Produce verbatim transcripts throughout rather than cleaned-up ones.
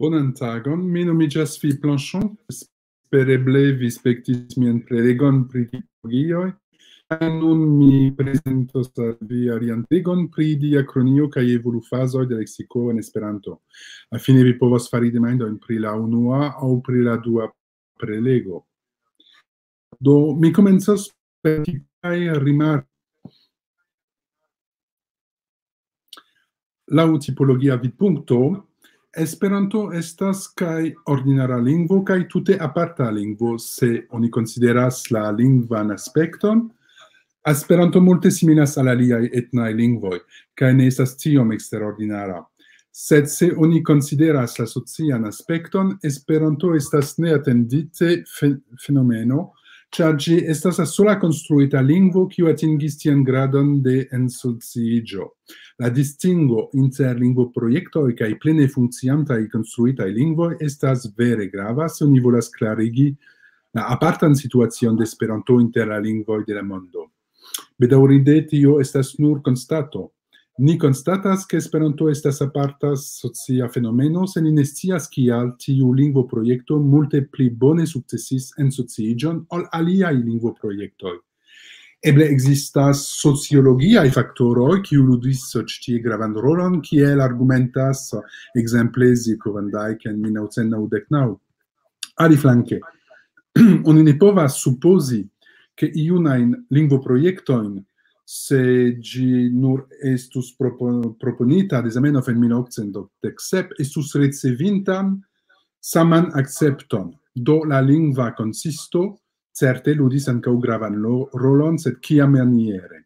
Bonan tagon, mi nomiĝas Philippe Blanchon. Espereble vi spektis mian prelegon pri tipologioj. Kaj nun mi prezentos al vi alian legon pri diakronio kaj evolufazoj de leksiko en Esperanto. Fine vi povas fari demandojn pri la unua aŭ pri la dua prelego. Do, mi komencas per tipaj rimarkoj. Laŭ tipologia vidpunkto, Esperanto estas kaj ordinara lingvo, kaj tute aparta lingvo, se oni konsideras la lingvan aspekton. Esperanto multe similas al aliaj etnaj lingvoj, kaj ne estas tiom eksterordinara. Sed se oni konsideras la socian aspekton, Esperanto estas neatendite fe-, fenomeno, ĉar ĝi estas la sola konstruita lingvo, kiu atingis tian gradon de ensociiĝo. La distingo inter lingvoprojektoj kaj plene funkciantaj konstruitaj lingvoj estas vere grava, se oni volas klarigi la apartan situacion de Esperanto inter la lingvoj de la mondo. Bedaŭrinde, tio estas nur konstato. Ni konstatas, ke Esperanto estas aparta socia fenomeno, se ni ne scias, kial tiu lingvoprojekto multe pli bone sukcesis ensociiĝon ol aliaj lingvoprojektoj. Eble ekzistas sociologiaj faktoroj, kiu ludis ĉi tie gravan rolon, kiel argumentas, ekzemple, Zico van Dijk en mil naŭcent naŭdek naŭ. Aliflanke, oni ne povas supozi, ke iunajn lingvoprojektojn, se ĝi nur estus propo-, proponita de Zamenhof en mil okcent okdek sep, estus ricevintan saman akcepton. Do la lingva konsisto certe ludis ankaŭ gravan lo-, rolon, sed kiamaniere?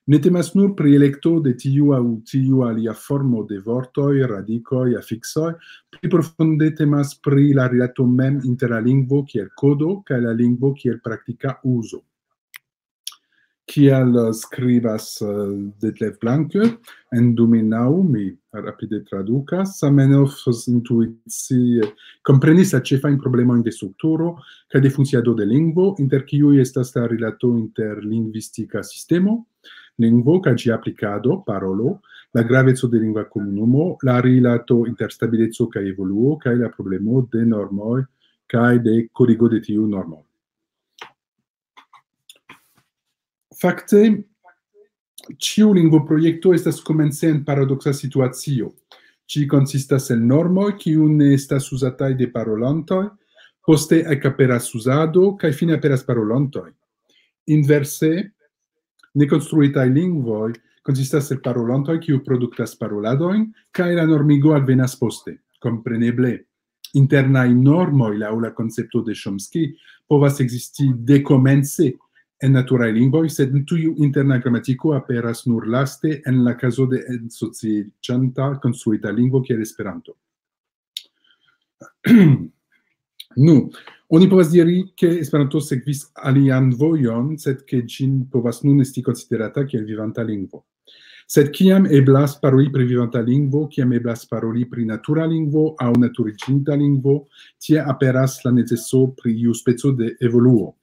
Ne temas nur pri elekto de tiu aŭ tiu alia formo de vortoj, radikoj, afiksoj, pli profunde temas pri la rilato mem inter la lingvo kiel kodo kaj la lingvo kiel praktika uzo. Kiel, eh, skribas, eh, Detlev Blanke en du mil naŭ, mi rapide tradukas, Zamenhof intuicie komprenis la ĉefajn problemojn de strukturo kaj de funkciado de lingvo, inter kiuj estas la rilato inter lingvistika sistemo, lingvo kaj ĝia aplikado, parolo, la graveco de lingva komunumo, la rilato inter stabileco kaj evoluo, kaj la problemo de normoj kaj de korigo de tiu normo. Fakte, ĉiu lingvoprojekto estas komence en paradoksa situacio. Ĝi konsistas el normoj, kiu ne estas uzataj de parolantoj, poste ekaperas uzado, kaj fine aperas parolantoj. Inverse, nekonstruitaj lingvoj konsistas el parolantoj, kiu produktas paroladojn, kaj la normigo alvenas poste. Kompreneble, internaj normoj laŭ la koncepto de Chomsky povas ekzisti dekomence en naturaj lingvoj, sed tiu interna gramatiko aperas nur laste en la kazo de ensociiĝanta konstruita lingvo kiel Esperanto. Nu, oni povas diri, ke Esperanto sekvis alian vojon, sed ke ĝin povas nun esti konsiderata kiel vivanta lingvo. Sed kiam eblas paroli pri vivanta lingvo, kiam eblas paroli pri natura lingvo aŭ naturiĝinta lingvo, tie aperas la neceso pri iu speco de evoluo.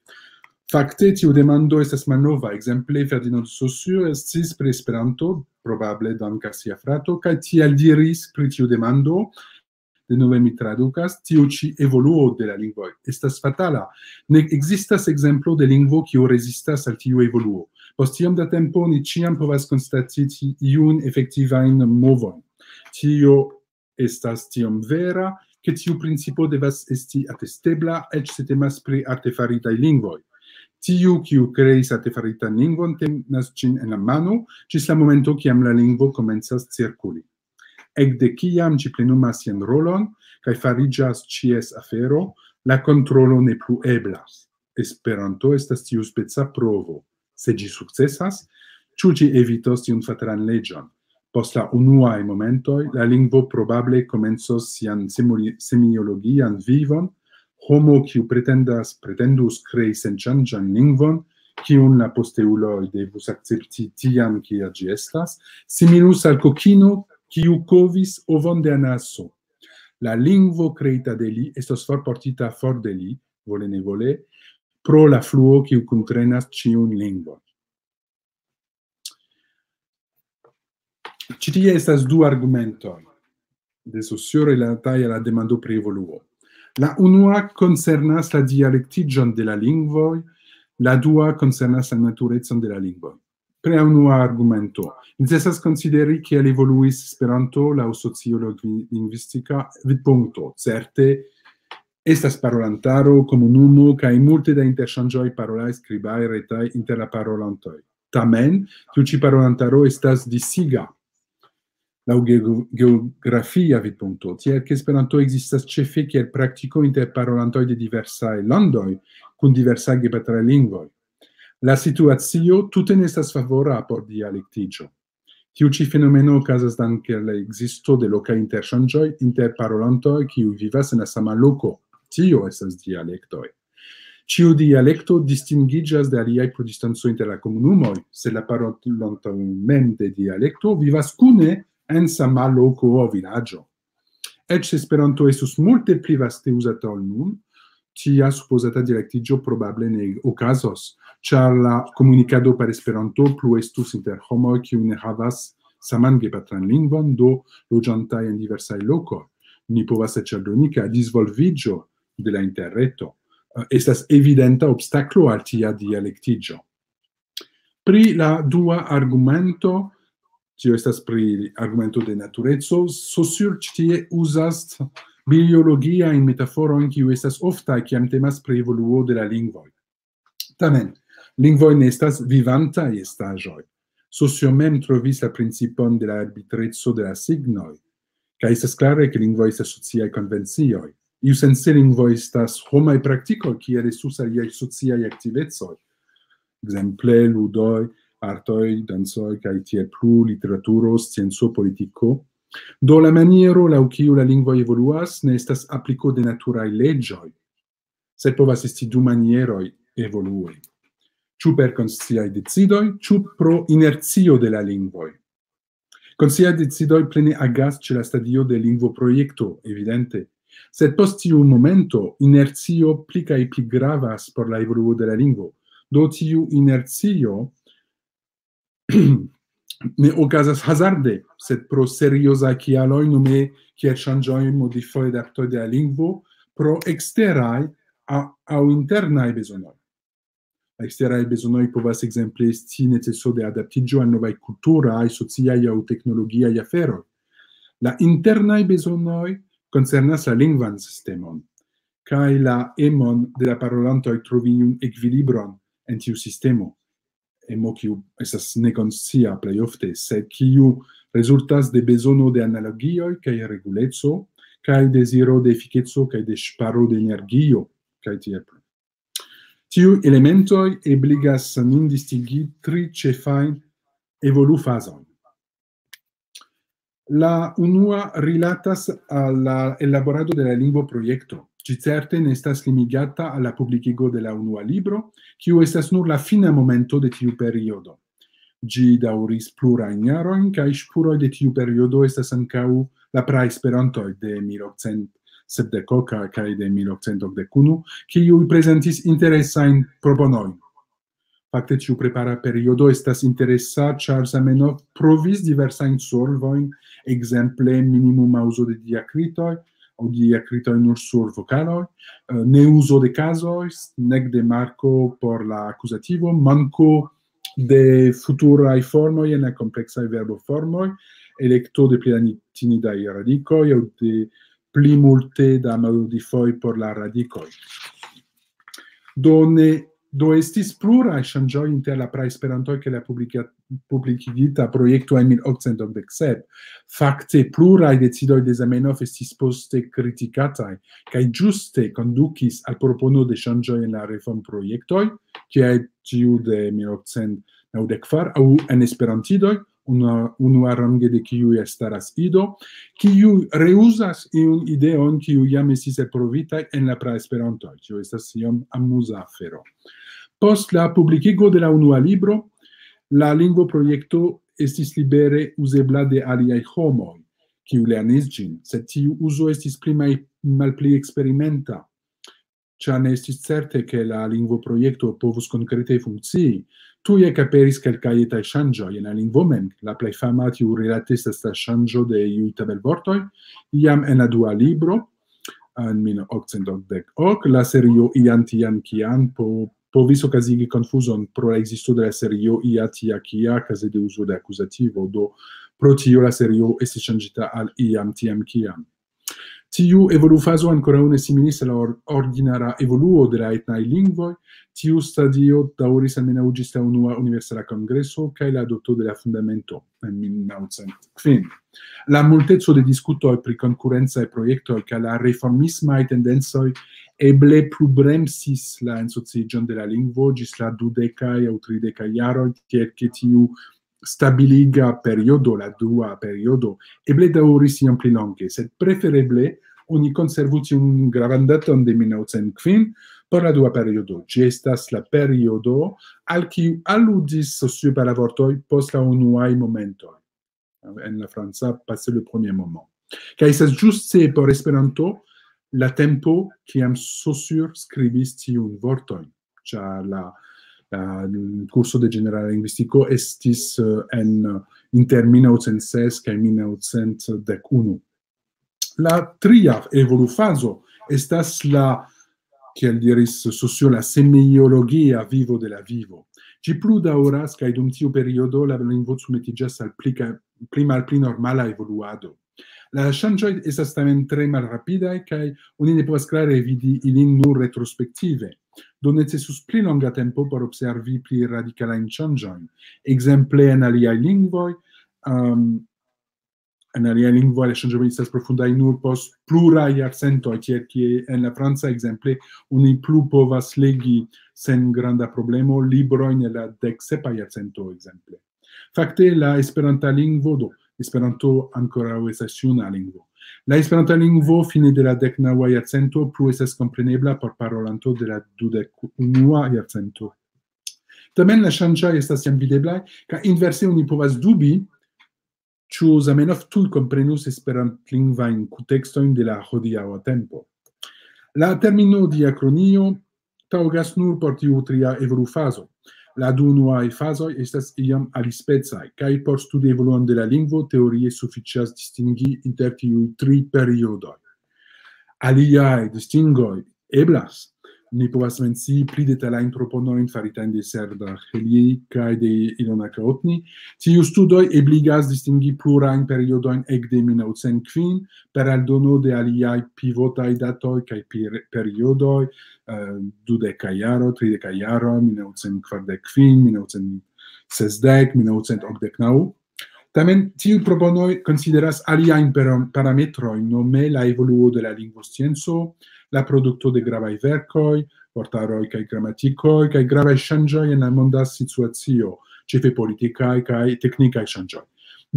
Fakte, tiu demando estas malnova. Ekzemple, Ferdinand Saussure estis pri Esperanto, probable dank al sia frato, kaj tiel diris pri tiu demando, denove mi tradukas, tiu ĉi evoluo de la lingvoj estas fatala. Ne ekzistas ekzemplo de lingvo, kiu rezistas al tiu evoluo. Post tiom da tempo, ni ĉiam povas konstati ti-, iun efektivajn movojn. Tio estas tiom vera, ke tiu principo devas esti atestebla, eĉ se temas pri artefaritaj lingvoj. Tiu, kiu kreis artefaritan lingvon, tenas ĝin en la mano, ĝis la momento, kiam la lingvo komencas cirkuli. Ekde kiam ĝi plenumas sian rolon, kaj fariĝas ĉies afero, la kontrolo ne plu eblas. Esperanto estas tiu speca provo. Se ĝi sukcesas, ĉu ĝi evitos tiun fatalan leĝon? Post la unuaj momentoj, la lingvo probable komencos sian semoli-, semiologian vivon, homo, kiu pretendas, pretendus krei senŝanĝan lingvon, kiun la posteuloj devus akcepti tian, kia ĝi estas, similus al kokino, kiu kovis ovon de anaso. La lingvo kreita de li estos forportita for de li, vole ne vole, pro la fluo, kiu kuntrenas ĉiun lingvon. Ĉi tie estas du argumentoj. de socio rilataj al la demando pri evoluo. La unua koncernas la dialektiĝon de la lingvoj, la dua koncernas la naturecon de la lingvoj. Pri la unua argumento, necesas konsideri kiel evoluis Esperanto laŭ sociolingvistika vidpunkto. Certe, estas parolantaro, komunumo kaj multe da interŝanĝoj parolaj, skribaj, retaj inter la parolantoj. Tamen, tiu ĉi parolantaro estas disiga laŭ geo-, geografia vidpunkto, tiel ke Esperanto ekzistas ĉefe kiel praktiko inter parolantoj de diversaj landoj kun diversaj gepatraj lingvoj. La situacio tute ne estas favora por dialektiĝo. Tiu ĉi fenomeno okazas danke al la ekzisto de lokaj interŝanĝoj inter parolantoj, kiuj vivas en la sama loko. Tio estas dialektoj. Ĉiu dialekto distingiĝas de aliaj pro distanco inter la komunumoj, sed la parolantoj mem de dialekto vivas kune en sama loko aŭ vilaĝo. Eĉ se Esperanto estus multe pli vaste uzata ol nun, tia supozata dialektiĝo probable ne okazos, ĉar la komunikado per Esperanto plu estus inter homoj, kiuj ne havas saman gepatran lingvon, do loĝantaj en diversaj lokoj. Ni povas eĉ aldoni, ke la disvolviĝo de la interreto, eh, estas evidenta obstaklo al tia dialektiĝo. Pri la dua argumento, tio estas pri argumento de natureco, Saussure ĉi tie uzas biologiajn metaforojn, kiuj estas oftaj, kiam temas pri evoluo de la lingvoj. Tamen, lingvoj ne estas vivantaj estaĵoj. Saussure mem trovis la principon de la arbitreco de la signoj, kaj estas klare, ke lingvoj estas sociaj konvencioj. Iusence lingvoj estas homaj praktikoj, kiel estus aliaj sociaj aktivecoj. Ekzemple, ludoj, artoj, dancoj, kaj tiel plu, literaturo, scienco, politiko. Do la maniero, laŭ kiu la lingvoj evoluas, ne estas apliko de naturaj leĝoj, sed povas esti du manieroj evolui. Ĉu per konsciaj decidoj, ĉu pro inercio de la lingvoj. Konsciaj decidoj plene agas ĉe la stadio de lingvoprojekto, evidente. Sed post tiu momento, inercio pli kaj pli gravas por la evoluo de la lingvo. Do tiu inercio ne okazas hazarde, sed pro seriozaj kialoj, nome kiel ŝanĝoj, modifoj, adaptoj de la lingvo, pro eksteraj a-, aŭ internaj bezonoj. La eksteraj bezonoj povas ekzemple esti neceso de adaptiĝo al novaj kulturaj, sociaj aŭ teknologiaj aferoj. La internaj bezonoj koncernas la lingvan sistemon, kaj la emon de la parolantoj trovi iun ekvilibron en tiu sistemo. Emo kiu estas nekonscia plej ofte, sed kiu rezultas de bezono de analogioj kaj reguleco, kaj deziro de efikeco kaj de ŝparo de energio, kaj tiel plu. Tiuj elementoj ebligas nin distingi tri ĉefajn evolufazojn. La unua rilatas al la elaborado de la lingvoprojekto. Ĝi certe ne estas limigata al la publikigo de la unua libro, kiu estas nur la fina momento de tiu periodo. Ĝi daŭris plurajn jarojn, kaj ŝpuroj de tiu periodo estas ankaŭ la praesperantoj de mil okcent sepdek kaj de mil okcent okdek unu, kiuj prezentis interesajn proponojn. Fakte, tiu prepara periodo estas interesa, ĉar Zamenhof provis diversajn solvojn, ekzemple minimuma uzo de diakritoj, aŭ diakritoj nur sur vokaloj, eh, ne uzo de kazoj, nek de marko por la akuzativo, manko de futuraj formoj en la kompleksaj verboformoj, elekto de pli latinidaj radikoj aŭ de pli multe da modifoj por la radikoj. Do ne, do estis pluraj ŝanĝoj inter la praesperantoj kaj la publika-, publikigita projekto en mil okcent okdek sep. Fakte, pluraj decidoj de Zamenhof estis poste kritikataj, kaj ĝuste kondukis al propono de ŝanĝoj en la reformprojektoj, kiaj tiu de mil okcent naŭdek kvar, aŭ en esperantidoj, unua-, unuarange de kiuj elstaras Ido, kiu reuzas iun ideon, kiu jam estis elprovitaj en la praesperantoj. Tio estas iom amuza afero. Post la publikigo de la unua libro, la lingvoprojekto estis libere uzebla de aliaj homoj, kiu lernis ĝin, sed tiu uzo estis pli maj-, malpli eksperimenta, ĉar ne estis certe, ke la lingvoprojekto povus konkrete funkcii, Tuj ekaperis kelkaj etaj ŝanĝoj en la lingvo mem. La plej fama tiurilate estas la ŝanĝo de iuj tabelvortoj, jam en la dua libro, en mil okcent okdek ok, la serio Ian Tian Kian po-, povis okazigi konfuzon pro la ekzisto de la serio Ia Tia Kia kaze de uzo de akuzativo, do pro tio la serio estis ŝanĝita al Iam Tiam Kiam. Tiu evolufazo ankoraŭ ne similis al la or-, ordinara evoluo de la etnaj lingvoj. Tiu stadio daŭris almenaŭ ĝis la unua universala kongreso kaj la adopto de la fundamento en mil naŭcent kvin. La multeco de diskutoj pri konkurencaj projektoj kaj la reformismaj tendencoj eble plu bremsis la ensociĝon de la lingvo ĝis la dudekaj aŭ tridekaj jaroj, tiel ke tiu stabiliga periodo, la dua periodo, eble daŭris iom pli longe, sed prefereble oni konservu tiun gravan daton de mil naŭcent kvin por la dua periodo. Ĝi estas la periodo al kiu aludis Saussure per la vortoj post la unuaj momentoj. En la franca, passer le premier moment. Kaj estas ĝuste por Esperanto la tempo, kiam Saussure skribis tiun vortojn, ĉar la, la kurso de ĝenerala lingvistiko estis, eh, en, inter mil naŭcent ses kaj mil naŭcent dek unu. La tria evolufazo estas la, kiel diris Saussure, la semiologia vivo de la vivo. Ĝi plu daŭras, kaj dum tiu periodo la lingvo submetiĝas al pli kaj, pli malpli normala evoluado. La ŝanĝoj estas tamen tre malrapidaj, kaj oni ne povas klare vidi ilin nur retrospektive. Do necesus pli longa tempo por observi pli radikalajn ŝanĝojn. Ekzemple en aliaj lingvoj, um, en aliaj lingvoj la ŝanĝoj estas profundaj nur post pluraj jarcentoj, tiel kie en la franca ekzemple oni plu povas legi sen granda problemo librojn el la dek sepa jarcento ekzemple. Fakte la esperanta lingvo, do Esperanto ankoraŭ estas juna lingvo. La esperanta lingvo fine de la dek naŭa jarcento plu estas komprenebla por parolanto de la dudek unua jarcento. Tamen la ŝanĝoj estas jam videblaj, kaj inverse oni povas dubi, ĉu Zamenhof tuj komprenus esperantlingvajn kuntekstojn de la hodiaŭa tempo. La termino diakronio taŭgas nur por tiu tria evolufazo. La du unuaj fazoj estas iam alispecaj, kaj por studi evoluon de la lingvo teorie sufiĉas distingi inter tiuj tri periodoj. Aliaj distingoj eblas. Ni povas mencii pli detalajn proponojn faritajn de Serdar Heli kaj de Ilona Kaotni. Tiuj studoj ebligas distingi plurajn periodojn ekde mil naŭcent kvin per aldono de aliaj pivotaj datoj kaj per-, periodoj, eh, dudeka jaro, trideka jaro, mil naŭcent kvardek kvin, mil naŭcent sesdek, mil naŭcent okdek naŭ. Tamen, tiuj proponoj konsideras aliajn per-, parametrojn, nome la evoluo de la lingvoscienco, la produkto de gravaj verkoj, vortaroj kaj gramatikoj, kaj gravaj ŝanĝoj en la monda situacio, ĉefe politikaj kaj teknikaj ŝanĝoj.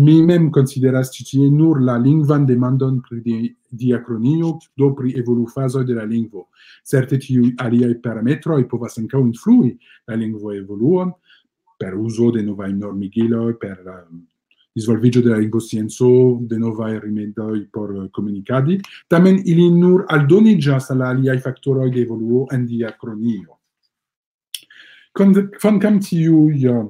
Mi mem konsideras ĉi tie nur la lingvan demandon pri di-, diakronio, do pri evolufazoj de la lingvo. Certe tiuj aliaj parametroj povas ankaŭ influi la lingvoevoluon per uzo de novaj normigiloj, per, um, disvolviĝo de la lingvoscienco, de novaj rimedoj por, eh, komunikadi. Tamen ili nur aldoniĝas al aliaj faktoroj de evoluo en diakronio. Kon-, kvankam tiuj, eh,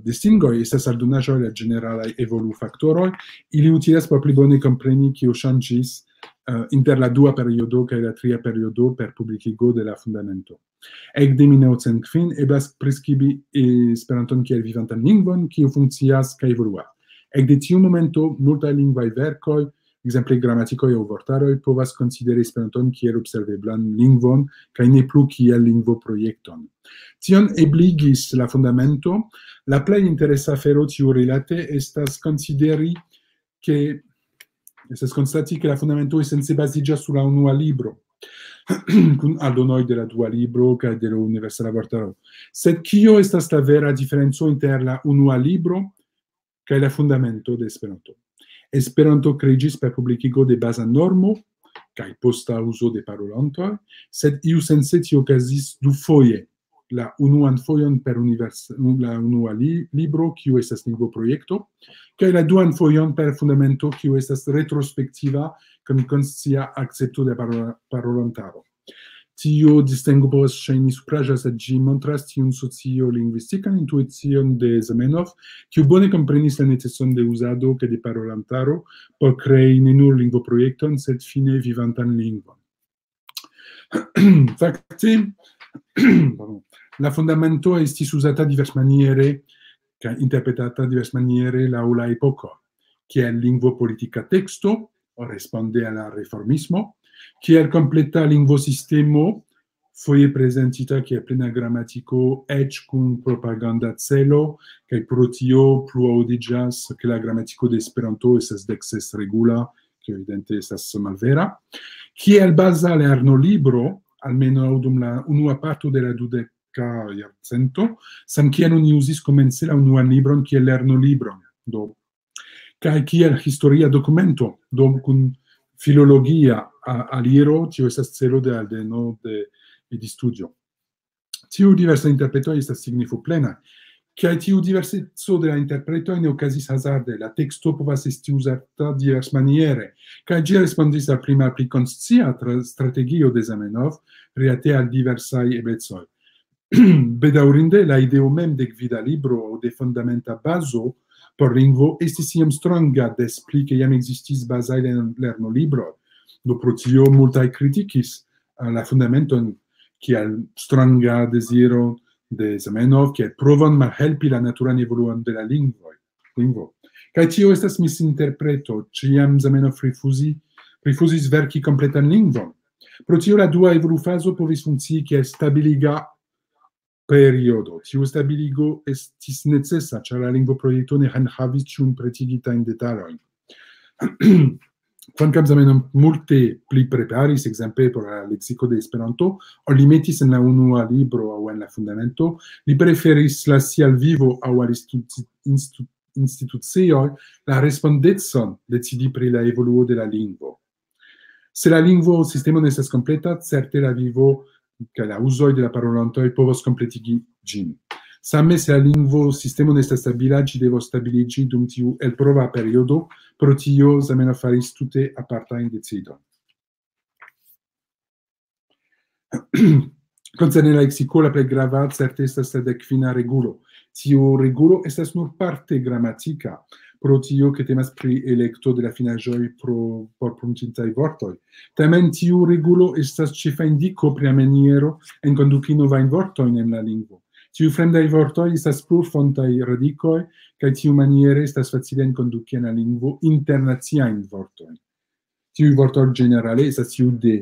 distingoj estas aldonaĵoj de ĝeneralaj evolufaktoroj, ili utilas por pli bone kompreni, kio ŝanĝis, eh, inter la dua periodo kaj la tria periodo per publikigo de la fundamento. Ekde mil naŭcent kvin eblas priskribi Esperanton kiel vivantan lingvon, kiu funkcias kaj evoluas. Ekde tiu momento multaj lingvaj verkoj, ekzemple gramatikoj aŭ vortaroj, povas konsideri Esperanton kiel observeblan lingvon kaj ne plu kiel lingvoprojekton. Tion ebligis la fundamento. La plej interesa afero tiurilate estas konsideri, ke estas konstati, ke la fundamento esence baziĝas sur la unua libro, kun aldonoj de la dua libro kaj de la universala vortaro. Sed kio estas la vera diferenco inter la unua libro kaj la fundamento de Esperanto? Esperanto kreiĝis per publikigo de baza normo kaj posta uzo de parolantoj, sed iusence tio okazis dufoje. La unuan fojon per univers-, la unua li-, libro, kiu estas lingvoprojekto, kaj la duan fojon per fundamento, kiu estas retrospektiva, kun konscia akcepto de parola-, parolantaro. Tio distingo povas ŝajni supraĵa, sed ĝi montras tiun sociolingvistikan intuicion de Zamenhof, kiu bone komprenis la neceson de uzado kaj de parolantaro por krei ne nur lingvoprojekton, sed fine vivantan lingvon. Fakte, pardon, la fundamento estis uzata diversmaniere kaj interpretata diversmaniere laŭ la epoko, kiel lingvopolitika teksto, responde al la reformismo, kiel kompleta lingvosistemo, foje prezentita kiel plena gramatiko, eĉ kun propaganda celo, kaj pro tio plu aŭdiĝas, ke la gramatiko de Esperanto estas dek ses regula, kio evidente estas malvera, kiel baza lernolibro, almenaŭ dum la unua parto de la dudeka jarcento, samkiel oni uzis komence la unuan libron kiel lernolibron, do, kaj kiel historia dokumento, do kun filologia a-, aliro, tio estas celo de aldeno de Edistudio. Tiu diversa interpreto estas signifo plena, kaj tiu diverseco de la interpretoj ne okazis hazarde. La teksto povas esti uzata diversmaniere, kaj ĝi respondis al pli malpli konscia tra-, strategio de Zamenhof rilate al diversaj eblecoj. Bedaŭrinde, la ideo mem de gvida libro aŭ de fundamenta bazo por lingvo estis iam stranga, des pli ke jam ekzistis bazaj lern-, lernolibroj. Do pro tio multaj kritikis, eh, la fundamenton kiel stranga deziro de Zamenhof, kiel provon malhelpi la naturan evoluon de la lingvoj, lingvo. Kaj tio estas misinterpreto, ĉiam Zamenhof rifuzi-, rifuzis verki kompletan lingvon. Pro tio la dua evolufazo povis funkcii kiel stabiliga periodo. Tiu stabiligo estis necesa, ĉar la lingvoprojekto ne enhavis ĉiujn pretigitajn detalojn. Kvankam Zamenhof multe pli preparis, ekzemple por la leksiko de Esperanto, ol li metis en la unua libro aŭ en la fundamento, li preferis lasi al vivo aŭ al institu-, institu-, institucioj la respondecon decidi pri la evoluo de la lingvo. Se la lingvo sistemo ne estas kompleta, certe la vivo kaj la uzoj de la parolantoj povos kompletigi ĝin. Same se la lingvo sistemo ne estas stabila, ĝi devos stabiliĝi dum tiu elprova periodo, pro tio Zamenhof faris tute apartajn decidojn. Koncerne la leksiko, la plej grava certe estas la dek kvina regulo. Tiu regulo estas nur parte gramatika, pro tio ke temas pri elekto de la finaĵoj pro, por pruntintaj vortoj. Tamen tiu regulo estas ĉefa indiko pri la maniero enkonduki novajn vortojn en la lingvo. Tiuj fremdaj vortoj estas plurfontaj radikoj, kaj tiumaniere estas facile enkonduki en la lingvo internaciajn vortojn. Tiuj vortoj ĝenerale estas tiu de,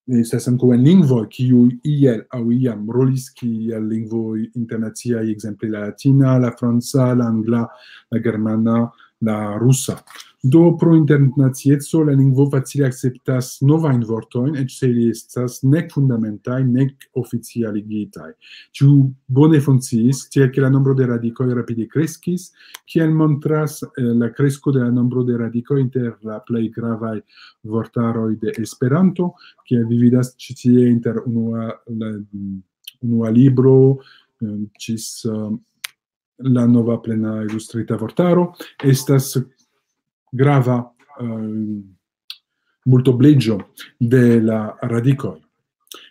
estas ankaŭ en lingvoj, kiuj iel aŭ iam rolis kiel lingvoj internaciaj, ekzemple la latina, la franca, la angla, la germana, la rusa. Do pro internacieco la lingvo facile akceptas novajn vortojn, eĉ se ili estas nek fundamentaj, nek oficialigitaj. Tiu bone funkciis, tiel ke la nombro de radikoj rapide kreskis, kiel montras, eh, la kresko de la nombro de radikoj inter la plej gravaj vortaroj de Esperanto, kiel vi vidas ĉi tie inter unua, la, mm, unua libro, eh, ĝis, eh, la nova plena ilustrita vortaro, estas grava, eh, multobleĝo de la radikoj.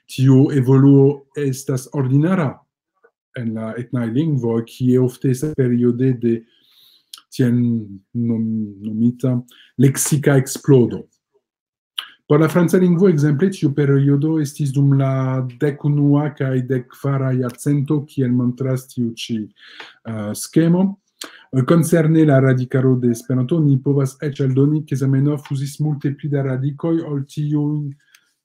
Tiu evoluo estas ordinara en la etnaj lingvoj, kie ofte estas periode de tiel nom-, nomita leksika eksplodo. Por la franca lingvo, ekzemple, tiu periodo estis dum la dek unua kaj dek kvara jarcento, kiel montras tiu ĉi, eh, skemo. Koncerne la radikaro de Esperanto, ni povas eĉ aldoni, ke Zamenhof uzis multe pli da radikoj ol tiuj,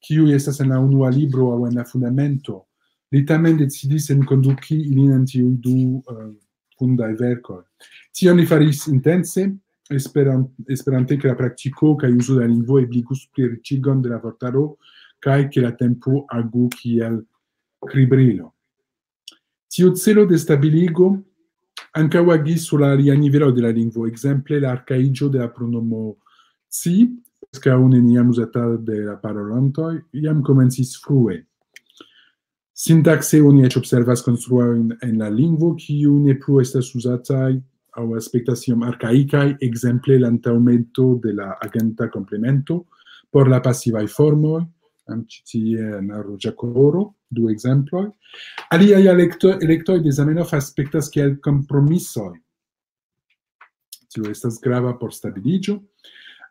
kiuj estas en la unua libro aŭ en la fundamento. Li tamen decidis enkonduki ilin en tiuj du, eh, fundaj verkoj. Tion li faris intense, esperan-, esperante ke la praktiko kaj uzo de la lingvo ebligus pliriĉigon de la vortaro kaj ke la tempo agu kiel kribrilo. Tiu celo de stabiligo ankaŭ agis sur la alia nivelo de la lingvo, ekzemple la arkaiĝo de la pronomo ci, preskaŭ neniam uzata de la parolantoj, jam komencis frue. Sintakse oni eĉ observas konstruojn en la lingvo, kiuj ne plu estas uzataj aŭ aspektas iom arkaikaj, ekzemple la antaŭmeto de la agenta komplemento por la pasivaj formoj, Ankaŭ ĉi tie en ruĝa koloro, du ekzemploj. Aliaj elekto-, elektoj de Zamenhof aspektas kiel kompromisoj. Tio estas grava por stabiliĝo,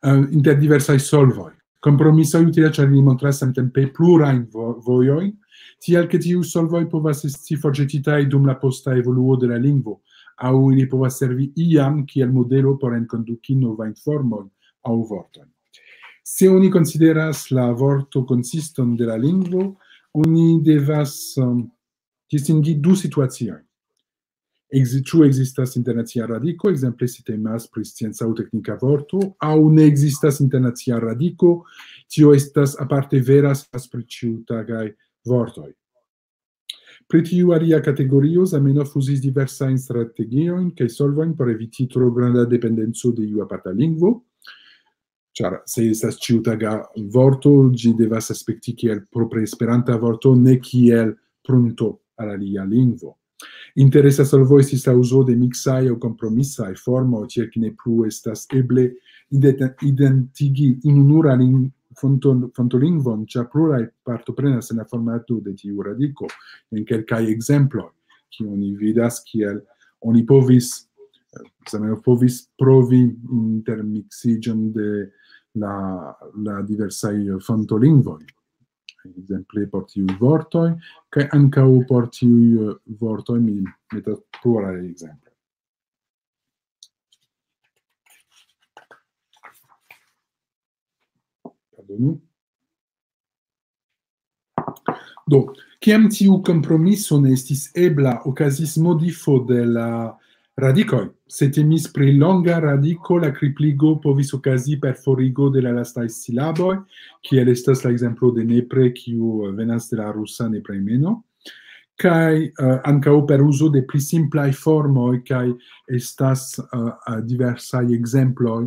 eh, inter diversaj solvoj. Kompromisoj utilas, ĉar ili montras samtempe plurajn vo-, vojojn, tial ke tiuj solvoj povas esti forĵetitaj dum la posta evoluo de la lingvo, aŭ ili povas servi iam kiel modelo por enkonduki novajn formojn aŭ vortojn. Se oni konsideras la vorto konsiston de la lingvo, oni devas, um, distingi du situaciojn. Ekzi-, ĉu ekzistas internacia radiko, ekzemple se temas pri scienca aŭ teknika vorto, aŭ ne ekzistas internacia radiko, tio estas aparte vera, se temas pri ĉiutagaj vortoj. Pri tiu alia kategorio, Zamenhof uzis diversajn strategiojn kaj solvojn por eviti tro granda dependenco de iu aparta lingvo, ĉar se estas ĉiutaga vorto, ĝi devas aspekti kiel propre esperanta vorto, ne kiel prunto al alia lingvo. Interesa solvo estis la uzo de miksaj aŭ kompromisaj formoj, tiel ke ne plu estas eble ident-, identigi ununura ling-, fonton-, fontolingvon, ĉar pluraj partoprenas en la formato de tiu radiko. En kelkaj ekzemploj, kiu oni vidas kiel oni povis, eh, Zamenhof povis provi intermiksiĝon de la, la diversaj fontolingvoj. Ekzemple por tiuj vortoj, kaj ankaŭ por tiuj, eh, vortoj mi metas pluraj ekzemploj. Pardonu. Do, kiam tiu kompromiso ne estis ebla, okazis modifo de la radikoj. Se temis pri longa radiko, la kripligo povis okazi per forigo de la lastaj silaboj, kiel estas la ekzemplo de nepre, kiu venas de la rusa neprejmeno, kaj, eh, ankaŭ per uzo de pli simplaj formoj, kaj estas, eh, eh, diversaj ekzemploj,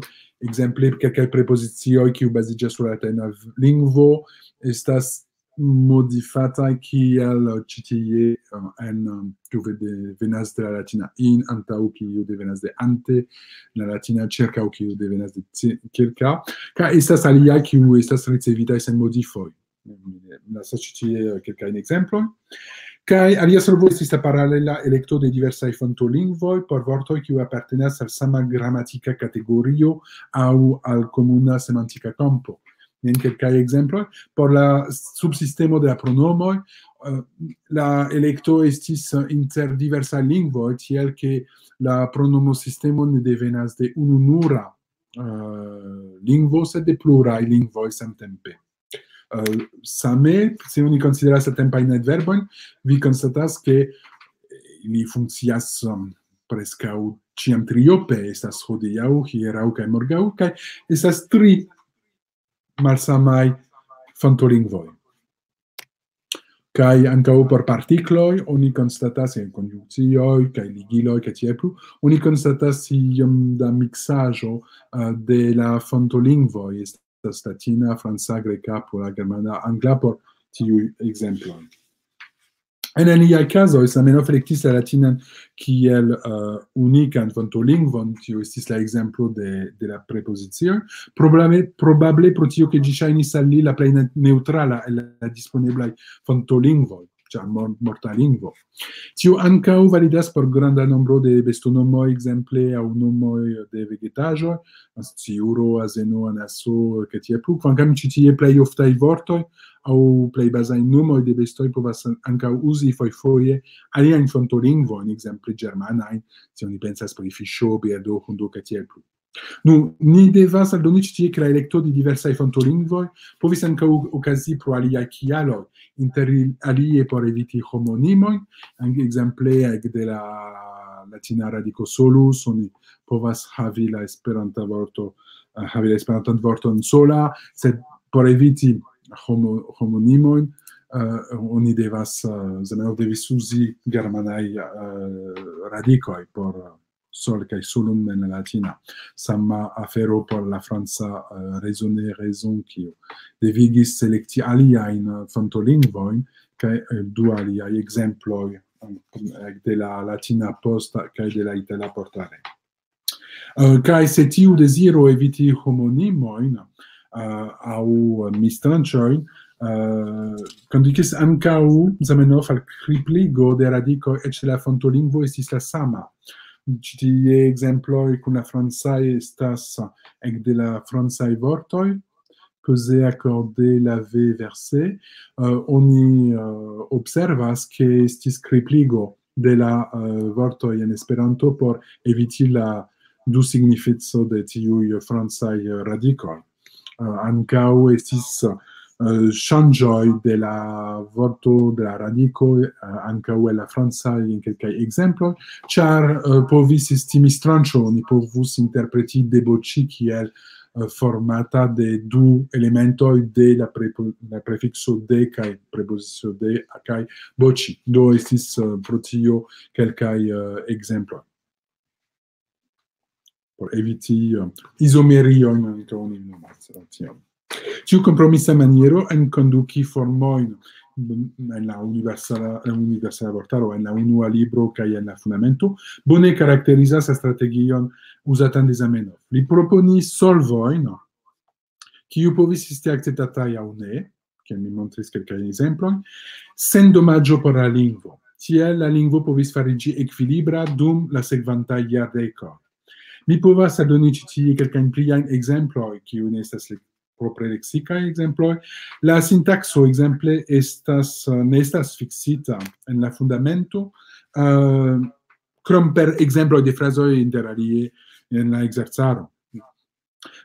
ekzemple kelkaj prepozicioj, kiu baziĝas sur la latina lingvo, estas modifataj kiel, eh, ĉi tie, eh, en, eh, kiu ve-, de-, venas de la latina in, antaŭ kiu devenas de ante, la latina ĉirkaŭ kiu devenas de ci-, ĉirkaŭ, kaj estas alia kiu estas ricevitaj sen modifoj. Mi lasas ĉi tie kelkajn ekzemplojn. Kaj alia solvo estis la paralela elekto de diversaj fontolingvoj por vortoj kiuj apartenas al sama gramatika kategorio aŭ al komuna semantika kampo. Jen kelkaj ekzemploj. Por la subsistemo de la pronomoj, eh, la elekto estis, eh, inter diversaj lingvoj, tiel ke la pronomosistemo ne devenas de ununura, eh, lingvo, sed de pluraj lingvoj samtempe. Eh, same, se oni konsideras la tempajn adverbojn, vi konstatas, ke ili funkcias, um, preskaŭ ĉiam triope, estas hodiaŭ, hieraŭ kaj morgaŭ, kaj estas tri malsamaj fontolingvoj. Kaj ankaŭ por partikloj oni konstatas en konjunkcioj kaj ligiloj kaj tiel plu, oni konstatas iom da miksaĵo, eh, de la fontolingvoj, estas latina, franca, greka, pola, germana, angla por tiuj ekzemploj. En aliaj kazoj, Zamenhof elektis la latinan kiel, eh, unikan fontolingvon, tio estis la ekzemplo de, de la prepozicioj. Probable, probable pro tio, ke ĝi ŝajnis al li la plej ne-, neŭtrala el la disponeblaj fontolingvoj, ĉar mor-, morta lingvo. Tio ankaŭ validas por granda nombro de bestonomoj, ekzemple, aŭ nomoj de vegetaĵoj, sciuro, azeno, anaso, kaj tiel plu, kvankam ĉi tie plej oftaj vortoj aŭ plej bazaj nomoj de bestoj povas an-, ankaŭ uzi fojfoje aliajn fontolingvojn, ekzemple ĝermanajn, se oni pensas pri fiŝo, birdo, hundo, kaj tiel plu. Nu, ni devas aldoni ĉi tie, ke la elekto de diversaj fontolingvoj povis ankaŭ okazi pro aliaj kialoj, inter il-, alie por eviti homonimojn, an-, ekzemple ekde la latina radiko solus, oni povas havi la esperanta vorto, eh, havi la esperantan vorton sola, sed por eviti homo-, homonimojn, eh, oni devas, eh, Zamenhof devis uzi germanaj, eh, radikoj por sol kaj solum en la latina. Sama afero por la franca, eh, raisonner raison, kiu devigis selekti aliajn, eh, fontolingvojn, kaj, eh, du aliaj ekzemploj, eh, de la latina posta kaj de la itala portale. Eh, kaj se tiu deziro eviti homonimojn, eh, aŭ mistranĉojn, Uh, kondukis ankaŭ Zamenhof al kripligo de radikoj, eĉ la fontolingvo estis la sama. Ĉi tie ekzemploj kun la francaj estas ekde la francaj vortoj, causer, accorder, laver, verser. Uh, oni uh, observas, ke estis kripligo de la uh, vortoj en Esperanto por eviti la du significo de tiuj francaj radikoj. Uh, ankaŭ estis uh, ŝanĝoj de la vorto, de la radiko, uh, ankaŭ en la francaj en kelkaj ekzemploj, ĉar uh, povis esti mistranĉo, oni povus interpreti deboĉi kiel uh, formata de du elementoj de la, prepo, la prefikso de kaj prepozicio de kaj boci. Do estis uh, pro tio kelkaj uh, ekzemploj. Por eviti uh, izomeriojn ankaŭ oni nomas uh, tion. Tiu kompromisa maniero enkonduki formojn en la universala, en universala vortaro, en la unua libro kaj en la fundamento, bone karakterizas la strategion uzatan de Zamenhof. Li proponis solvojn, kiu povis esti akceptataj aŭ ne, kiel mi montris kelkajn ekzemplojn, sen domaĝo por la lingvo. Tiel la lingvo povis fariĝi ekvilibra dum la sekvantaj jardekoj. Mi povas aldoni ĉi tie kelkajn pliajn ekzemploj, kiu ne estas le, propre leksikaj ekzemploj. La sintakso, ekzemple, estas, eh, ne estas fiksita en la fundamento, eh, krom per ekzemploj de frazoj, inter alie en la ekzercaro.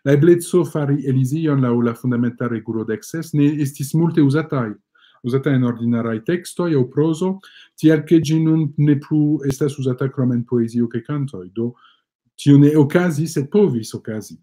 La ebleco fari elizion laŭ la fundamenta regulo dek ses ne estis multe uzataj, uzata en ordinaraj tekstoj aŭ prozo, tial ke ĝi nun ne plu estas uzata krom en poezio kaj kantoj. Do, tio ne okazis, sed povis okazi.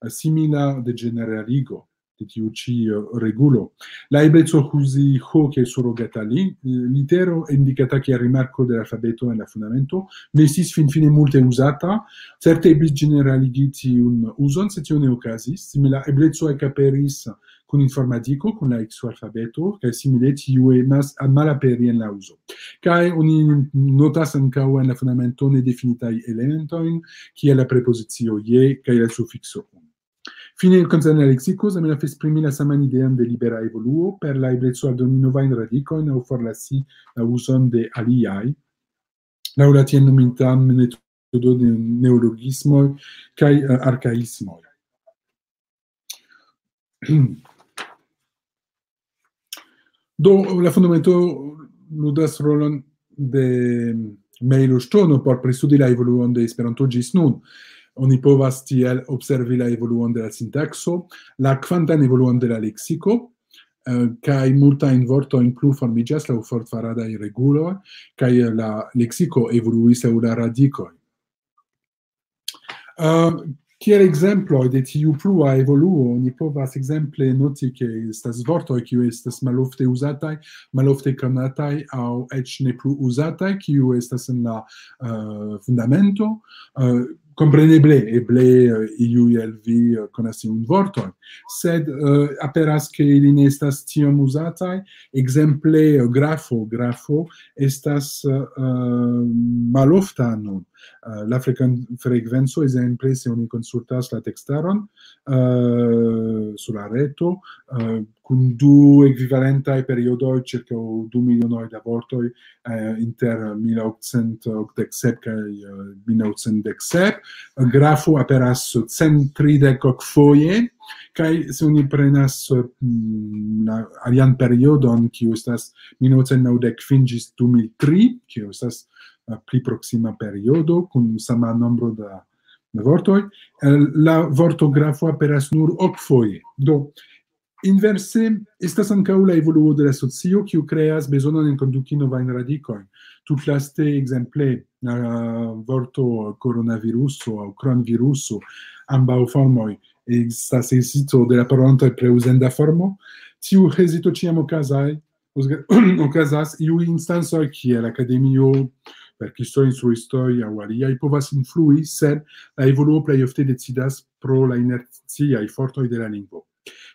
Simila degeneraligo de tiu ĉi, eh, regulo. La ebleco uzi ho kiel surogata li-, litero indikata kiel rimarko de l'alfabeto en la fundamento ne estis finfine multe uzata. Certe eblis ĝeneraligi tiun uzon, sed tio ne okazis. Simila ebleco ekaperis kun informadiko, kun la ikso alfabeto, kaj simile tiu emas a malaperi en la uzo. Kaj oni notas ankaŭ en la fundamento nedefinitaj elementojn, kiel la prepozicio je kaj la sufikso un. Fine, koncerne la leksiko, Zamenhof esprimi la saman ideon de libera evoluo per la ebleco aldoni novajn radikojn aŭ forlasi la uzon de aliaj, laŭ la tiel nomita metodo de neologismoj kaj, eh, arkaismoj. Do, la fundamento ludas rolon de mejloŝtono por pristudi la evoluon de Esperanto ĝis nun. Oni povas tiel observi la evoluon de la sintakso, la kvantan evoluon de la leksiko, eh, kaj multajn vortojn plu formiĝas laŭ fortfaradaj reguloj, kaj la leksiko evoluis laŭ la radikoj. Eh, kiel ekzemploj de tiu plua evoluo, ni povas ekzemple noti, ke estas vortoj, kiuj estas malofte uzataj, malofte konataj aŭ eĉ ne plu uzataj, kiu estas en la, eh, fundamento. Eh, kompreneble, eble, eh, iuj el vi, eh, konas tiun vorton, sed, eh, aperas, ke ili ne estas tiom uzataj. Ekzemple, eh, grafo, grafo estas, eh, malofta nun. Eh, la frekven-, frekvenco, ekzemple, se oni konsultas la tekstaron, eh, sur la reto, eh, kun du ekvivalentaj periodoj, ĉirkaŭ du milionoj da vortoj, eh, inter mil okcent okdek sep kaj, eh, mil novcent dek sep. Grafo aperas cent tridek ok foje, kaj se oni prenas, mm, la alian periodon, kiu estas mil novcent naŭdek kvin ĝis du mil tri, kiu estas, eh, pli proksima periodo kun sama nombro da, da vortoj, eh, la vorto grafo aperas nur ok foje. Do, inverse, estas ankaŭ la evoluo de la socio, kiu kreas bezonon enkonduki novajn radikojn. Tutlaste, ekzemple, la vorto coronaviruso aŭ kronviruso, ambaŭ formoj, estas hezito de la parolantoj pri uzenda formo. Tiu hezito ĉiam okazaj-, okazas, iuj instancoj kiel akademio, verkistoj, instruistoj aŭ aliaj povas influi, sed la evoluo plej ofte decidas pro la inerciaj fortoj de la lingvo.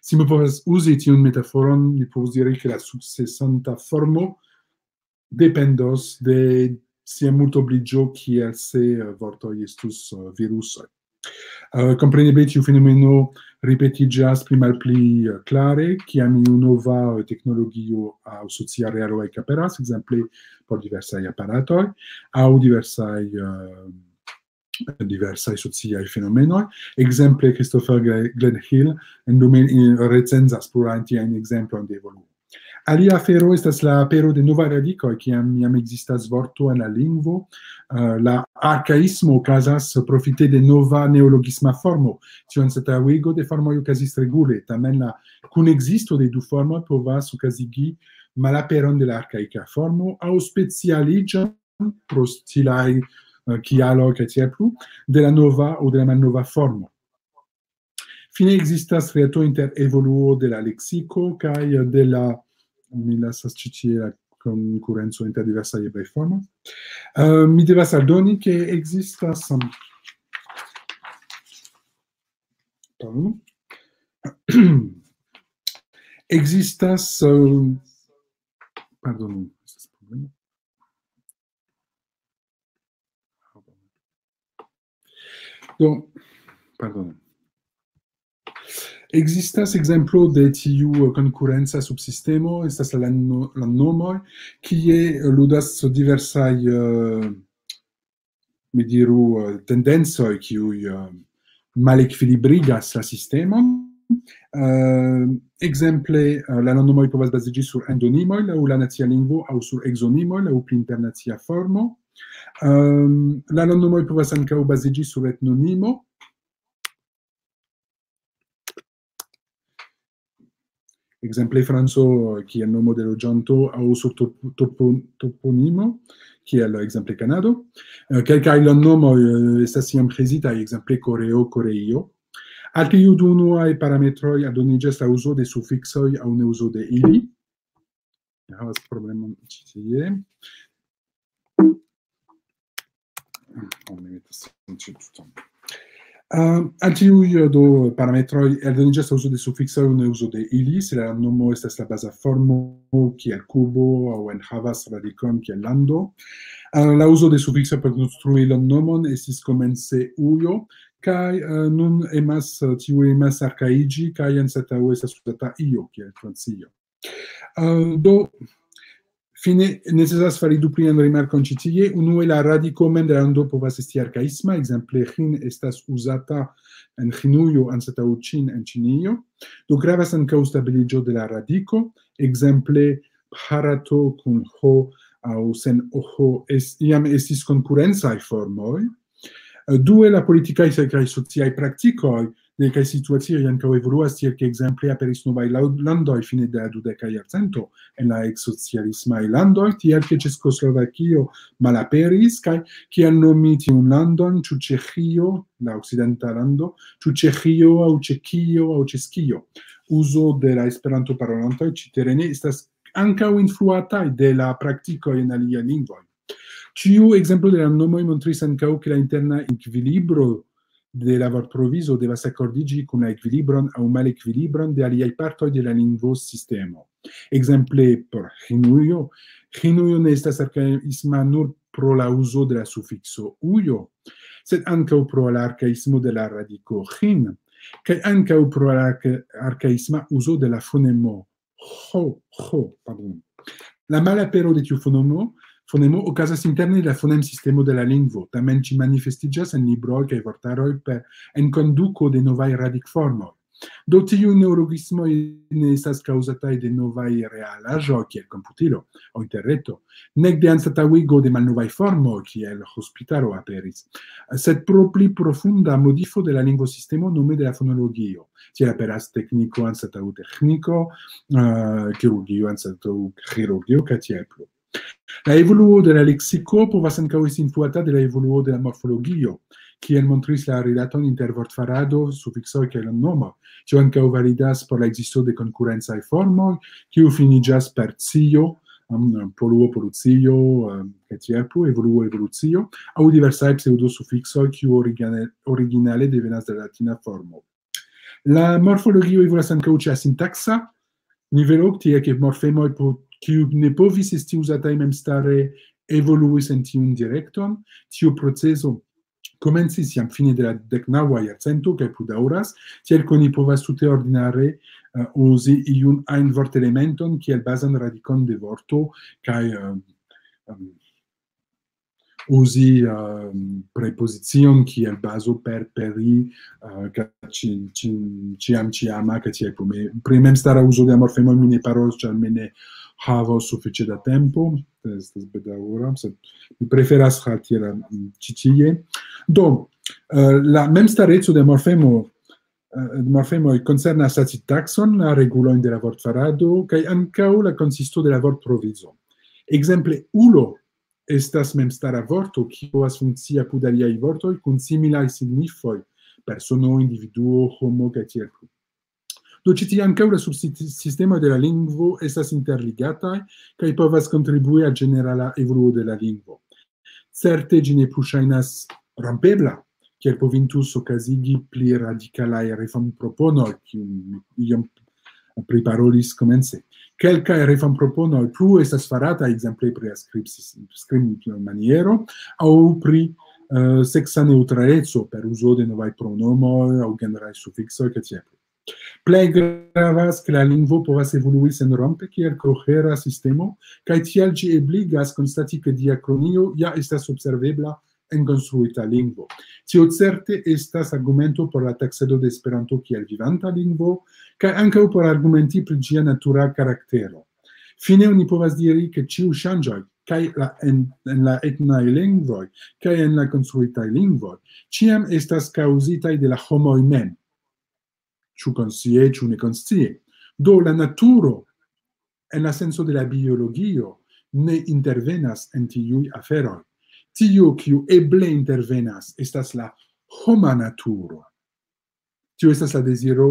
Se mi povas uzi tiun metaforon, mi povas diri, ke la sukcesanta formo dependos de sia multobliĝo, kiel se, eh, vortoj estus, eh, virusoj. Eh, kompreneble tiu fenomeno ripetiĝas pli malpli, eh, klare, kiam iu nova, eh, teknologio aŭ socia realo ekaperas, ekzemple por diversaj aparatoj aŭ diversaj, eh, diversaj sociaj fenomenoj. Ekzemple, Christopher Gre-, Glenhill en du mil, eh, recenzas plurajn tiajn ekzemplojn de evoluo. Alia afero estas la apero de novaj radikoj, kiam jam ekzistas vorto en la lingvo, eh, la arkaismo okazas profite de nova neologisma formo. Tio anstataŭigo de formoj okazis regule, tamen la kunekzisto de du formoj povas okazigi malaperon de la arkaika formo aŭ specialiĝon pro stilaj, eh, kialoj kaj tiel plu, de la nova aŭ de la malnova formo. Fine ekzistas reto inter evoluo de la leksiko kaj de la, mi lasas ĉi tie la konkurenco inter diversaj eblaj formoj. Eh, mi devas aldoni, ke ekzistas, um, pardon. Ekzistas, eh, pardonu, estas problemo. Do, pardon. Ekzistas ekzemplo de tiu konkurenca subsistemo, estas la no-, la nomoj, kie ludas diversaj, eh, mi diru, eh, tendencoj, kiuj, eh, malekvilibrigas la sistemon. Eh, ekzemple, eh, la landnomoj povas baziĝi sur endonimoj laŭ la nacia lingvo aŭ sur egzonimoj laŭ pli internacia formo. Ehm, la landnomoj povas ankaŭ baziĝi sur etnonimo. Ekzemple, Franco, kiel nomo de loĝanto aŭ sur top-, topo-, toponimo, kiel ekzemple Kanado. Eh, kelkaj landnomoj, eh, estas iom hezitaj, ekzemple Koreo, Koreio. Al tiuj du unuaj parametroj aldoniĝas la uzo de sufiksoj aŭ ne uzo de ili. Mi havas problemon ĉi tie. Oh, mi metas tion ĉi tuton. Eh, al tiuj, eh, do parametroj aldoniĝas la uzo de sufiksoj aŭ ne uzo de ili, se la nomo estas la baza formo kiel kubo aŭ enhavas radikon kiel lando. Eh, la uzo de sufikso por konstrui la nomon estis komence ujo, kaj, eh, nun emas, eh, tiu emas arkaiĝi, kaj anstataŭe estas uzata io kiel Francio. Eh, do, fine necesas fari du plian rimarkon ĉi tie. Unue, la radiko mem de la lando povas esti arkaisma, ekzemple, ĥin estas uzata en Ĥinujo anstataŭ ĉin en Ĉinio. Do, gravas ankaŭ stabiliĝo de la radiko, ekzemple, Bharato kun ho aŭ sen oho es-, jam estis konkurencaj formoj. Eh, due, la politikaj se-, kaj sociaj praktikoj de kaj situacioj ankaŭ evoluas, tiel ke ekzemple aperis novaj lau-, landoj fine de la dudeka jarcento en la eksocialismaj landoj, tiel ke Ĉeĥoslovakio malaperis, kaj kiel nomi tiun landon, ĉu Ĉeĥio, la okcidenta lando, ĉu Ĉeĥio aŭ Ĉekio aŭ Ĉeskio. Uzo de la Esperanto-parolantoj ĉi terene estas ankaŭ influataj de la praktikoj en aliaj lingvoj. Ĉiu ekzemplo de la nomoj montris ankaŭ, ke la interna ekvilibro de la vortprovizo devas akordiĝi kun la ekvilibron aŭ malekvilibron de aliaj partoj de la lingvosistemo. Ekzemple, por Ĥinujo, Ĥinujo ne estas arkaisma nur pro la uzo de la sufikso ujo, sed ankaŭ pro la arkaismo de la radiko ĥin, kaj ankaŭ pro la arka-, arkaisma uzo de la fonemo ho, ho, pardon. La malapero de tiu fonemo, fonemo okazas interne de la fonemsistemo de la lingvo, tamen ĝi manifestiĝas en libroj kaj vortaroj per enkonduko de novaj radikformoj. Do, tiuj neologismoj ne estas kaŭzataj de novaj realaĵoj kiel komputilo aŭ interreto, nek de anstataŭigo de malnovaj formoj kiel hospitalo aperis, sed pro pli profunda modifo de la lingvosistemo, nome de la fonologio. Tiel aperas tekniko anstataŭ teĥniko, eh, kirurgio anstataŭ ĥirurgio, kaj tiel plu. La evoluo de la leksiko povas ankaŭ esti influata de la evoluo de la morfologio, kiel montris la rilaton inter vortfarado, sufiksoj kaj la nomo. Tio ankaŭ validas por la ekzisto de konkurencaj formoj, kiu finiĝas per cio, um, poluo, polucio, um, kaj tiel plu, evoluo, evolucio, aŭ diversaj pseŭdosufiksoj, kiu origine-, originale devenas de la latina formo. La morfologio evoluas ankaŭ ĉe la sintaksa nivelo, tie ke morfemoj po-, kiu ne povis esti uzataj memstare evoluis en tiun direkton. Tiu procezo komencis jam fine de la deknaŭa jarcento kaj plu daŭras, tiel ke oni povas tute ordinare, eh, uzi iun ajn vortelementon kiel bazan radikon de vorto kaj, eh, em, uzi, eh, prepozicion kiel bazo per peri, eh, kaj ĉi-, ĉi-, ĉiam ĉiama, kaj tiel plu. Mi pri memstara uzo de la morfemo mi ne parolos, ĉar mi ne havos sufiĉe da tempo. Estas bedaŭra, sed mi preferas halti la, mm, ĉi tie. Do, eh, la memstareco de morfemo, eh, morfemoj koncernas la sintakson, la regulojn de la vortfarado, kaj ankaŭ la konsisto de la vortprovizo. Ekzemple, ulo estas memstara vorto, kiu povas funkcii apud aliaj vortoj kun similaj signifoj, persono, individuo, homo, kaj tiel plu. Do, ĉi tie ankaŭ la subsistemoj de la lingvo estas interligataj kaj povas kontribui al ĝenerala evoluo de la lingvo. Certe, ĝi ne plu ŝajnas rompebla, kiel povintus okazigi pli radikalaj reformproponoj, kiujn mi iom priparolis komence. Kelkaj reformproponoj plu estas farataj, ekzemple pri la skrib-, skribmaniero aŭ pri, eh, seksa neŭtraleco per uzo de novaj pronomoj aŭ generaj sufiksoj, kaj tiel plu. Plej gravas, ke la lingvo povas evolui senrompe kiel kohera sistemo, kaj tial ĝi ebligas konstati, ke diakronio ja estas observebla en konstruita lingvo. Tio certe estas argumento por la taksado de Esperanto kiel vivanta lingvo, kaj ankaŭ por argumenti pri ĝia natura karaktero. Fine oni povas diri, ke ĉiuj ŝanĝoj, kaj la, en, en la etnaj lingvoj, kaj en la konstruitaj lingvoj, ĉiam estas kaŭzitaj de la homoj mem, ĉu konscie, ĉu nekonscie. Do, la naturo, en la senso de la biologio, ne intervenas en tiuj aferoj. Tio, kiu eble intervenas, estas la homa naturo. Tio estas la deziro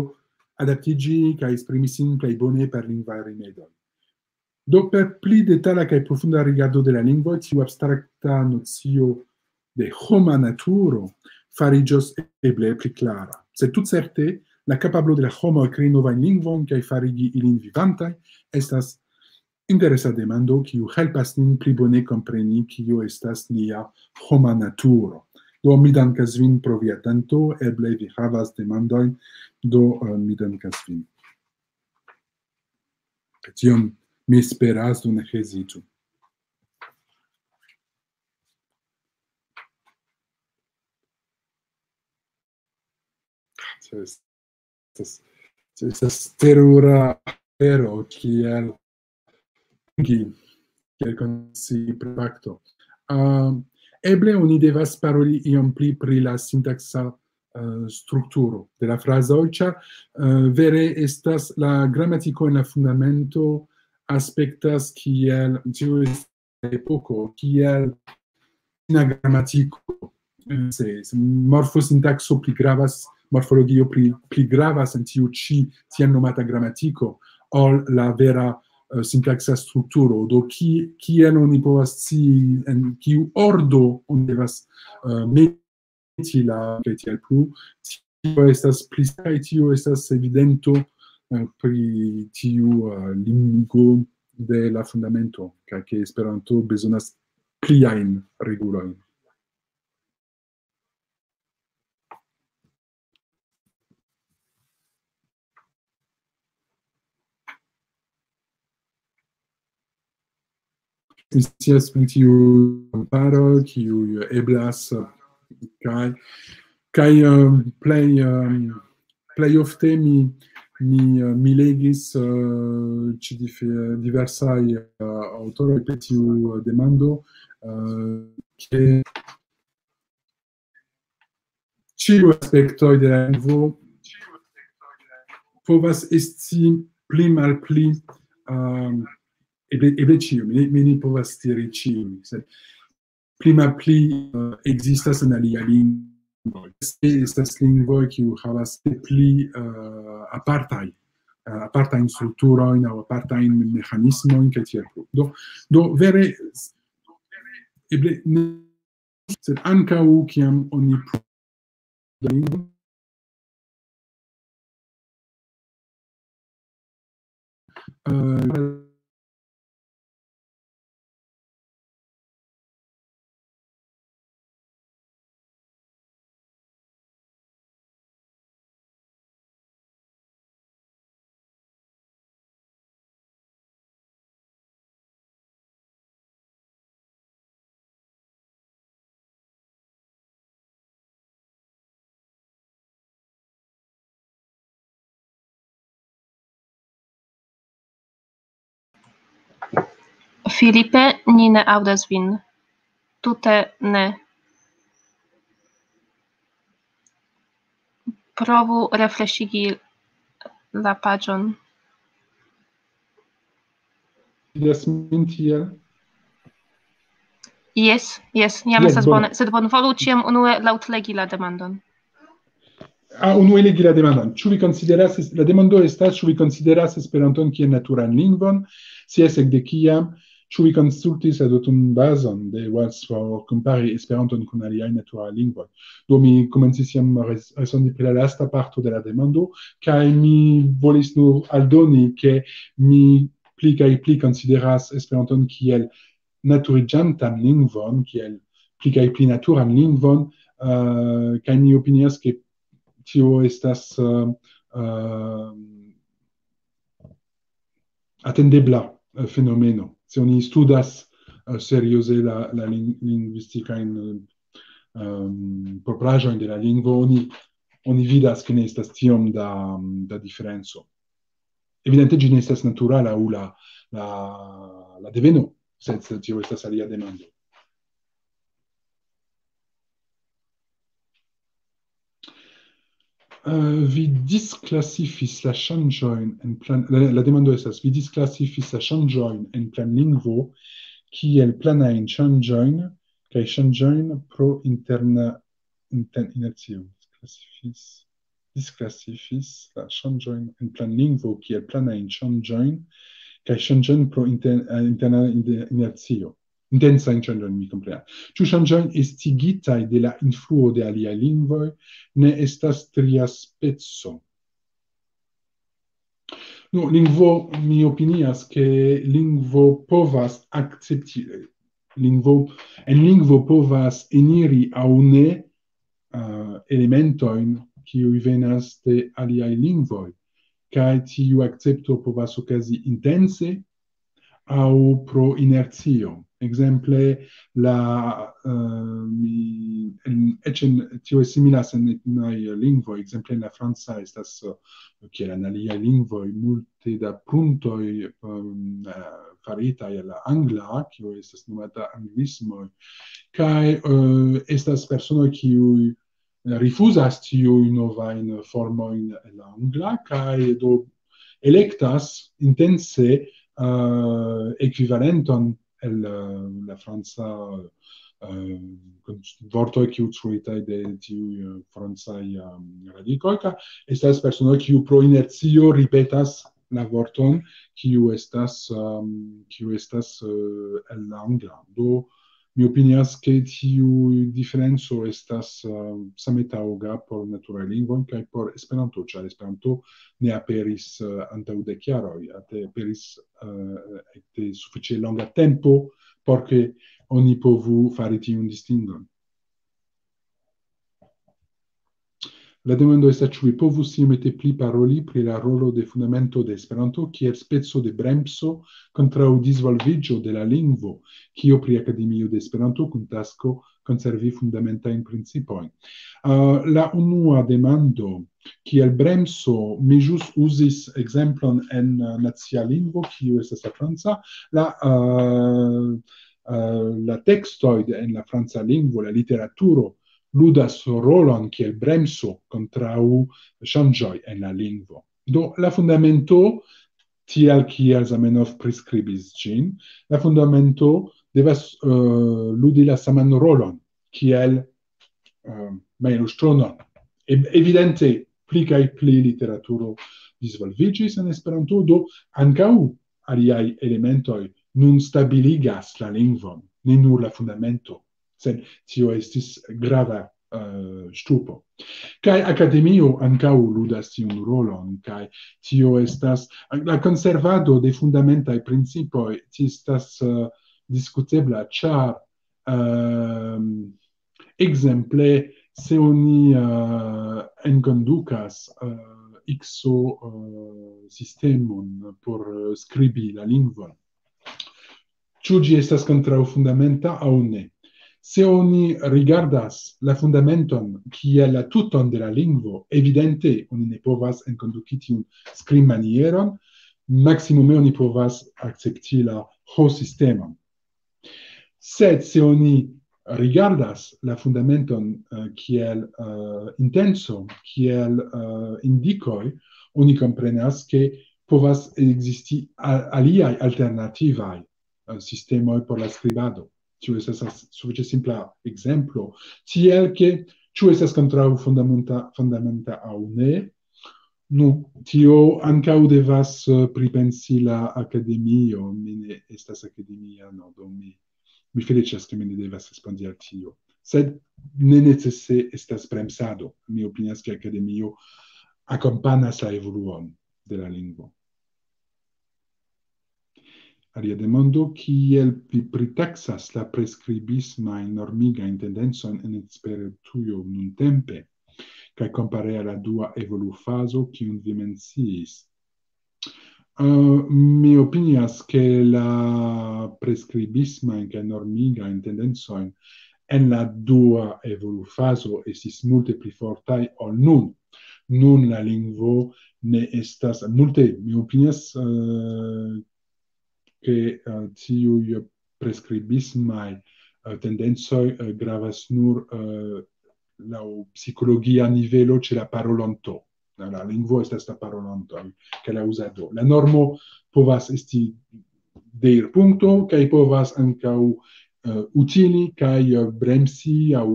adaptiĝi kaj esprimi sin plej bone per lingvaj rimedoj. Do, per pli detala kaj profunda rigardo de la lingvo, tiu abstrakta nocio de homa naturo fariĝos eble pli klara. Sed tutcerte, la kapablo de la homo krei novajn lingvojn kaj farigi ilin vivantaj estas interesa demando, kiu helpas nin pli bone kompreni, kio estas nia homa naturo. Do, mi dankas vin pro via atento, eble vi havas demandojn, do, eh, mi dankas vin. Tion mi esperas, do ne hezitu. Estas, estas terura afero, kiel, kiel konsi pri fakto. Ah, eble oni devas paroli iom pli pri la sintaksa, eh, strukturo de la frazoj, ĉar, eh, vere estas la gramatiko en la fundamento aspektas kiel, tio estas epoko, kiel fina gramatiko. Se, se morfosintakso pli gravas, morfologio pli, pli gravas en tiu ĉi tiel nomata gramatiko, ol la vera, eh, sintaksa strukturo. Do, ki-, kiel oni povas scii, en kiu ordo oni devas, eh, meti la, kaj tiel plu, tio estas pli, kaj tio estas evidento, eh, pri tiu, eh, limigo de la fundamento, kaj ke Esperanto bezonas pliajn regulojn. Scias pri tiu komparo, kiu eblas, kaj, kaj, eh, plej, eh, plej ofte mi, mi, eh, mi legis, eh, ĉe dif-, diversaj, eh, aŭtoroj pri tiu, eh, demando, eh, ke ĉiuj aspektoj de la lingvo povas esti pli malpli, ehm, eble, eble ĉiuj, mi, mi ne povas diri ĉiuj, sed pli malpli, eh, ekzistas en aliaj lingvoj. Estas lingvoj, kiu havas pli, eh, apartaj, eh, apartajn strukturojn aŭ apartajn meĥanismojn, kaj tiel plu. Do, do vere, eble ne, sed ankaŭ kiam oni pru-, eh, Filipe, ni ne aŭdas vin. Tute ne. Provu refreŝigi la paĝon. Vidas min tiel? Jes, jes, jam yes, estas bone. Sed bonvolu ĉiam unue laŭtlegi la demandon. Ah, unue legi la demandon. Ĉu vi konsideras, la demando estas, ĉu vi konsideras Esperanton kiel naturan lingvon? Se jes, ekde kiam? Ĉu vi konsultis la dotun bazon de Wales por kompari Esperanton kun aliaj naturaj lingvoj? Do mi komencis jam respondi pri la lasta parto de la demando, kaj mi volis nur aldoni, ke mi pli kaj pli konsideras Esperanton kiel naturiĝantan lingvon, kiel pli kaj pli naturan lingvon, uh, kaj mi opinias, ke tio estas uh, uh, atendebla uh, fenomeno. Se oni studas uh, serioze la, la lingvistikajn um, propraĵojn de la lingvo, oni, oni vidas, ke ne estas tiom da, da diferenco. Evidente ĝi ne estas natura laŭ la, la, la deveno, sed tio estas alia demando. Uh, vi disklasifis la ŝanĝojn en plan... La, la demando estas, vi disklasifis la ŝanĝojn en planlingvo kiel planajn ŝanĝojn kaj ŝanĝojn pro interna inten inercio. Disklasifis, disklasifis la ŝanĝojn en planlingvo kiel planajn ŝanĝojn kaj ŝanĝojn pro inter, interna inercio. Intensajn ŝanĝojn, mi komprenas. Ĉu ŝanĝojn estigitaj de la influo de aliaj lingvoj ne estas tria speco? Nu, lingvo, mi opinias, ke lingvo povas akcepti, lingvo, en lingvo povas eniri aŭ ne uh, elementojn, kiuj venas de aliaj lingvoj, kaj tiu akcepto povas okazi intense aŭ pro inercio. Ekzemple, la uh, mi, en, eĉ en, tio similas en etnaj lingvoj, ekzemple en la franca estas uh, kiel en aliaj lingvoj multe da pruntoj um, uh, faritaj al la angla, kio estas nomata anglismoj, kaj uh, estas personoj kiuj rifuzas tiujn novajn formojn en la angla, kaj do elektas intense uh, ekvivalenton el uh, la franca uh, vortoj kiuj trovitaj de tiuj uh, francaj um, radikoj, kaj estas personoj kiuj pro inercio ripetas la vorton kiu estas um, kiu estas uh, el la angla. Do mi opinias, ke tiu diferenco estas uh, same taŭga por naturaj lingvoj kaj por Esperanto, ĉar Esperanto ne aperis uh, antaŭ dek jaroj, aperis uh, ekde sufiĉe longa tempo por ke oni povu fari tiun distingon. La demando estas, ĉu vi povus iomete pli paroli pri la rolo de Fundamento de Esperanto kiel speco de bremso kontraŭ disvolviĝo de la lingvo, kio pri Akademio de Esperanto kun tasko konservi fundamentajn principojn. Uh, la unua demando, kiel bremso mi ĵus uzis ekzemplon en uh, nacia lingvo, kiu estas la franca, la, uh, uh, la tekstoj en la franca lingvo, la literaturo, ludas rolon kiel bremso kontraŭ ŝanĝoj en la lingvo. Do la fundamento, tial kiel Zamenhof priskribis ĝin, la fundamento devas uh, ludi la saman rolon kiel uh, mailustronon. Evidente pli kaj pli literaturo disvolviĝis en Esperanto, do ankaŭ aliaj elementoj nun stabiligas la lingvon, ne nur la fundamento, sed tio estis grava uh, ŝtupo. Kaj akademio ankaŭ ludas tiun rolon, kaj tio estas la konservado de fundamentaj principoj, tio estas uh, diskutebla, ĉar uh, ekzemple se oni uh, enkondukas uh, ikso uh, sistemon por uh, skribi la lingvon, ĉu ĝi estas kontraŭ fundamenta aŭ ne. Se oni rigardas la fundamenton kiel la tuton de la lingvo, evidente oni ne povas enkonduki tiun skribmanieron, maksimume oni povas akcepti la ho-sistemon. Sed se oni rigardas la fundamenton, eh, kiel, eh, intenco, kiel, eh, indikoj, oni komprenas, ke povas ekzisti a-, aliaj alternativaj, eh, sistemoj por la skribado. Tio estas as-, sufiĉe simpla ekzemplo. Tiel ke, ĉu estas kontraŭ fundamenta, fundamenta aŭ ne? Nu, tio ankaŭ devas, eh, pripensi la akademio. Mi ne estas akademiano, do mi, mi feliĉas, ke mi ne devas respondi al tio. Sed ne necese estas bremsado. Mi opinias, ke akademio akompanas la evoluon de la lingvo. Alia demando, kiel vi pritaksas la preskribismajn normigajn tendencojn en Esperantujo nuntempe, kaj kompare al la dua evolufazo, kiun vi menciis? Eh, mi opinias, ke la preskribismajn kaj normigajn tendencojn en la dua evolufazo estis multe pli fortaj ol nun. Nun la lingvo ne estas multe, mi opinias, eh, ke, eh, tiuj preskribismaj, eh, tendencoj, eh, gravas nur, eh, laŭ psikologia nivelo ĉe la parolanto. La, la lingvo estas la parolanto, kaj la uzado. La normo povas esti deirpunkto, kaj povas ankaŭ, eh, utili kaj, eh, bremsi aŭ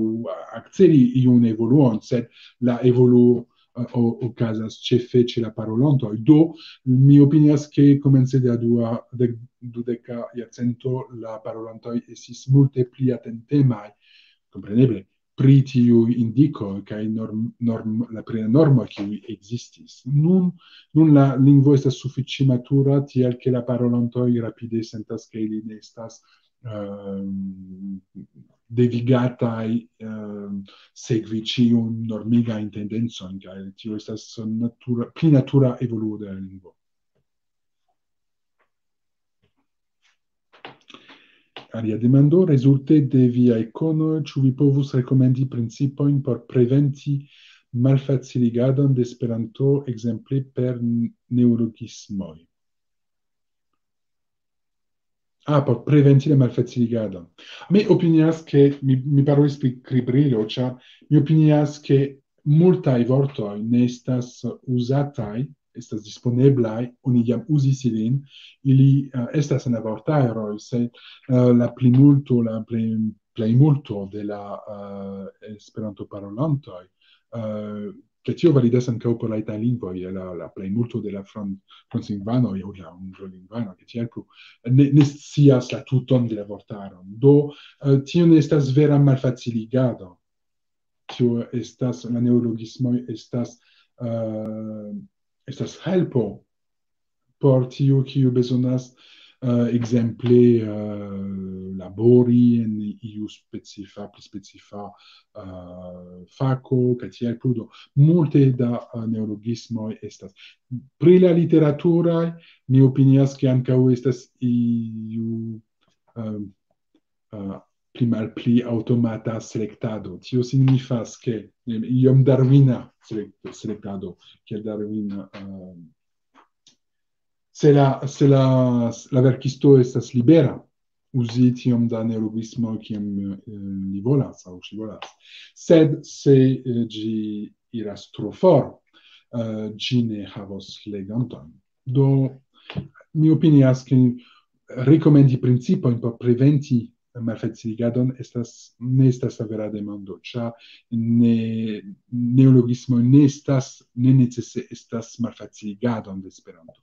akceli iun evoluon, sed la evoluo, eh, o-, okazas ĉefe ĉe la parolantoj. Do, mi opinias, ke komence de la dua, de, dudeka jarcento la parolantoj estis multe pli atentemaj, kompreneble, pri tiuj indikoj kaj norm-, norm-, la, pri la normoj, kiuj ekzistis. Nun, nun la lingvo estas sufiĉe matura, tiel ke la parolantoj rapide sentas, ke ili ne estas, ehm, devigataj, ehm, sekvi ĉiun normigajn tendencojn, kaj tio estas natura, pli natura evoluo de la lingvo. Alia demando, rezulte de viaj konoj, ĉu vi povus rekomendi principojn por preventi malfaciligadon de Esperanto, ekzemple per n-, neologismoj? Ah, por preventi la malfaciligadon. Mi opinias, ke mi, mi parolis pri kribrilo, ĉar mi opinias, ke multaj vortoj ne estas uzataj, estas disponeblaj, oni jam uzis ilin, ili, eh, estas en la vortaroj, sed, eh, la plimulto, la plej, plejmulto de la, eh, Esperanto-parolantoj, eh, ke tio validas ankaŭ por la itaj lingvoj, la, la plejmulto de la fran-, franclingvanoj aŭ la anglolingvanoj, ke tiel plu, ne, ne scias la tuton de la vortaron. Do, eh, tio ne estas vera malfaciligado. Tio estas, la neologismoj estas, eh, estas helpo por tiu, kiu bezonas, eh, ekzemple, eh, labori en iu specifa, pli specifa, eh, fako, kaj tiel plu. Do, multe da, eh, neologismoj estas. Pri la literaturaj, mi opinias, ke ankaŭ estas iu, eh, eh, pli malpli aŭtomata selektado. Tio signifas, ke, eh, iom darwina selek-, selektado, kiel Darwin, eh, se la, se la, la verkisto estas libera uzi tiom da neologismo, kiam, eh, li volas aŭ ŝi volas. Sed se, eh, ĝi iras tro for, eh, ĝi ne havos legantojn. Do, mi opinias, ke rekomendi principojn por preventi malfaciligadon estas, ne estas la vera demando, ĉar ne, neologismo ne estas, ne necese estas malfaciligadon de Esperanto.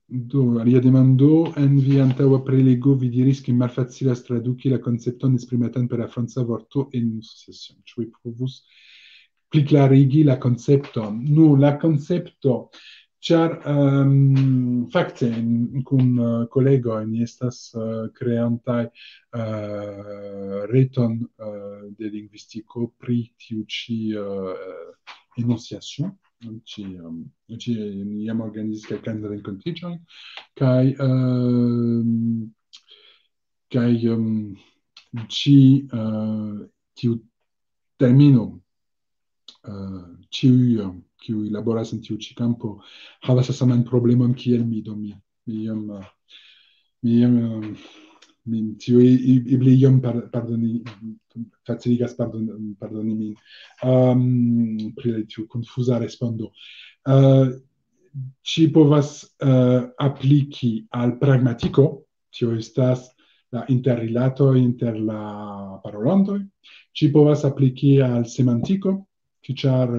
Do, alia demando, en via antaŭa prelego vi diris, ke malfacilas traduki la koncepton esprimatan per la franca vorto enunciation. Ĉu vi povus pli klarigi la koncepton? Nu, la koncepto, ĉar, ehm, fakte, en, kun, eh, kolegoj ni estas, eh, kreantaj, eh, reton, eh, de lingvistiko pri tiu ĉi, eh, enunciation. Ĉi, ehm, ĉi, ni jam organizis kelkajn renkontiĝojn, kaj, ehm, kaj, ehm, ĉi, eh, tiu termino, eh, ĉiuj, eh, kiuj laboras en tiu ĉi kampo, havas la saman problemon kiel mi, do mi, mi iom, eh, mi iom, eh, mi, tio e-, e-, eble iom par-, pardoni, faciligas pardon-, pardoni min, ehm, pri tiu konfuza respondo. Eh, ĝi povas, eh, apliki al pragmatiko, tio estas la interrilato inter la parolantoj, ĝi povas apliki al semantiko, ĉar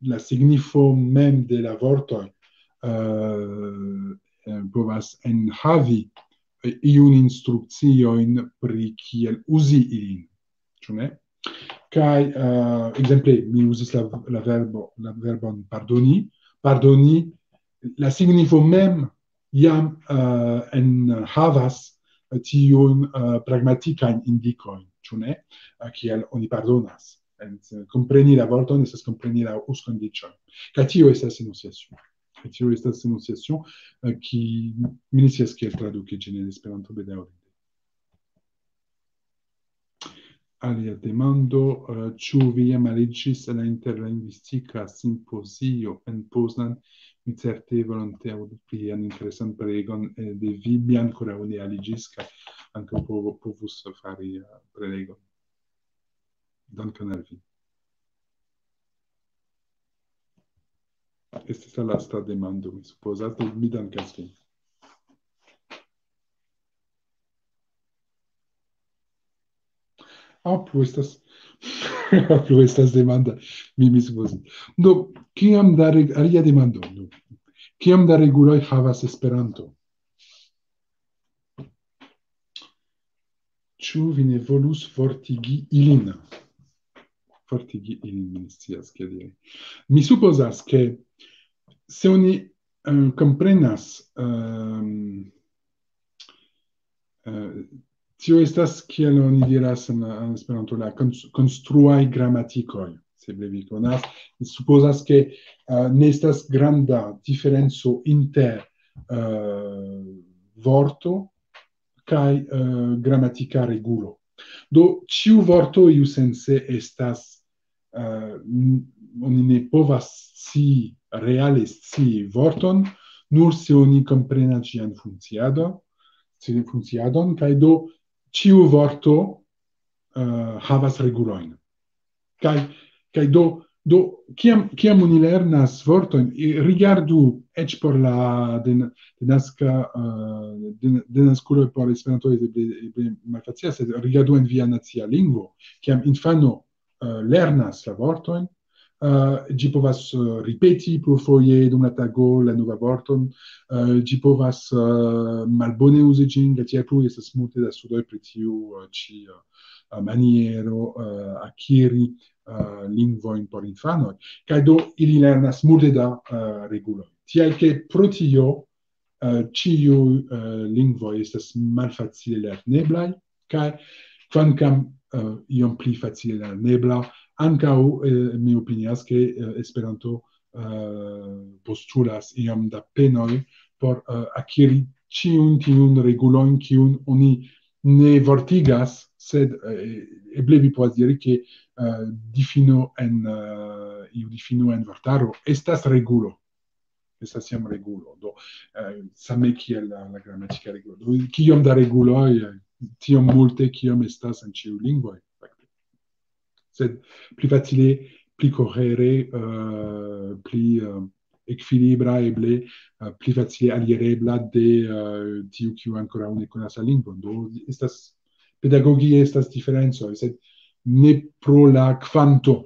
la signifo mem de la vortoj, eh, eh, povas enhavi, eh, iun instrukciojn pri kiel uzi ilin, ĉu ne? Kaj, eh, ekzemple, mi uzis la, la verbo, la verbon pardoni. Pardoni, la signifo mem jam, eh, enhavas tiun, eh, pragmatikajn indikojn, ĉu ne? Eh, kiel oni pardonas. En, kompreni la vorton estas kompreni la uzkondiĉojn. Kaj tio estas enunciacio. Kaj tio estas enunciacio, eh, ki-, mi ne scias kiel traduki ĝin en Esperanto, bedaŭrinde. Alia demando, eh, ĉu vi jam aliĝis al la interlingvistika simpozio en Poznan? Mi certe volonte aŭdu plian interesan prelegon, eh, de vi. Mi ankoraŭ ne aliĝis, kaj ankaŭ povo-, povus fari, eh, prelegon. Dankon al vi. Estis la lasta demando, mi supozas, do mi dankas vin. Ah, plu estas, plu estas demanda, mi, mi supozas. Do, kiam da reg-, alia demando, do. Kiam da reguloj havas Esperanto? Ĉu vi ne volus fortigi ilin? Fortigi ilin, mi ne scias, kiel diri. Mi supozas, ke se oni, eh, komprenas, ehm, eh, tio estas, kiel oni diras en, en Esperanto, la kons-, konstruaj gramatikoj, se vi konas. Mi supozas, ke, eh, ne estas granda diferenco inter, eh, vorto kaj, eh, gramatika regulo. Do, ĉiu vorto iusence estas, eh, n-, oni ne povas scii, reale scii vorton, nur se oni komprenas ĝian funkciado-, ĝian funkciadon, kaj do ĉiu vorto, eh, havas regulojn. Kaj, kaj do, do, kiam, kiam oni lernas vortojn, i-, rigardu eĉ por la den-, denaska, eh, den-, denaskuloj por Esperanto eble, eble malfacila, sed rigardu en via nacia lingvo, kiam infano, eh, lernas la vortojn, eh, ĝi povas, eh, ripeti plurfoje dum la tago la nova vorton, eh, ĝi povas, eh, malbone uzi ĝin, kaj tiel plu. Estas multe da studoj pri tiu, eh, ĉi, eh, maniero, eh, akiri, eh, lingvojn por infanoj. Kaj do ili lernas multe da, eh, reguloj. Tial ke pro tio, eh, ĉiuj, eh, lingvoj estas malfacile lerneblaj, kaj kvankam, eh, iom pli facile lernebla, ankaŭ, eh, mi opinias, ke, eh, Esperanto, eh, postulas iom da penoj por, eh, akiri ĉiujn tiujn regulojn, kiujn oni ne vortigas, sed, eh, eble vi povas diri, ke, eh, difino en, eh, iu difino en vortaro estas regulo. Estas jam regulo. Do, eh, same kiel la, la gramatika regulo. Do, kiom da reguloj, eh, tiom multe, kiom estas en ĉiuj lingvoj, fakte. Sed pli facile, pli kohere, eh, pli, eh, ekvilibra, eble, eh, pli facile alirebla de, eh, tiu, kiu ankoraŭ ne konas la lingvon. Do, estas, pedagogie estas diferencoj, sed ne pro la kvanto.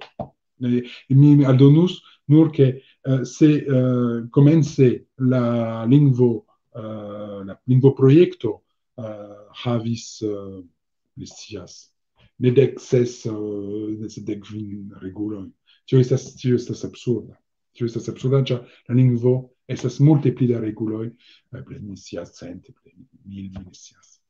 Eh, mi aldonus nur ke, eh, se, eh, komence la lingvo, eh, la lingvoprojekto, eh, havis, eh, mi scias, ne dek ses, eh, ne, sed dek kvin regulojn. Tio estas, tio estas absurda. Tio estas absurda, ĉar la lingvo estas multe pli da reguloj, eh, eble mi scias cent, eble mil, mi ne scias.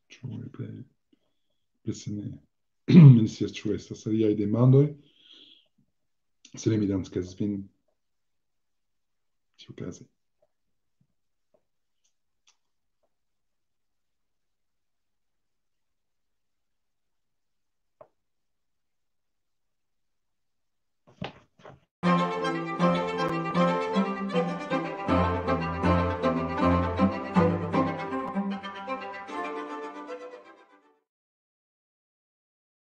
Ĉu eble, eble se ne, mi ne scias, ĉu estas aliaj demandoj. Se ne, mi dankas vin tiukaze.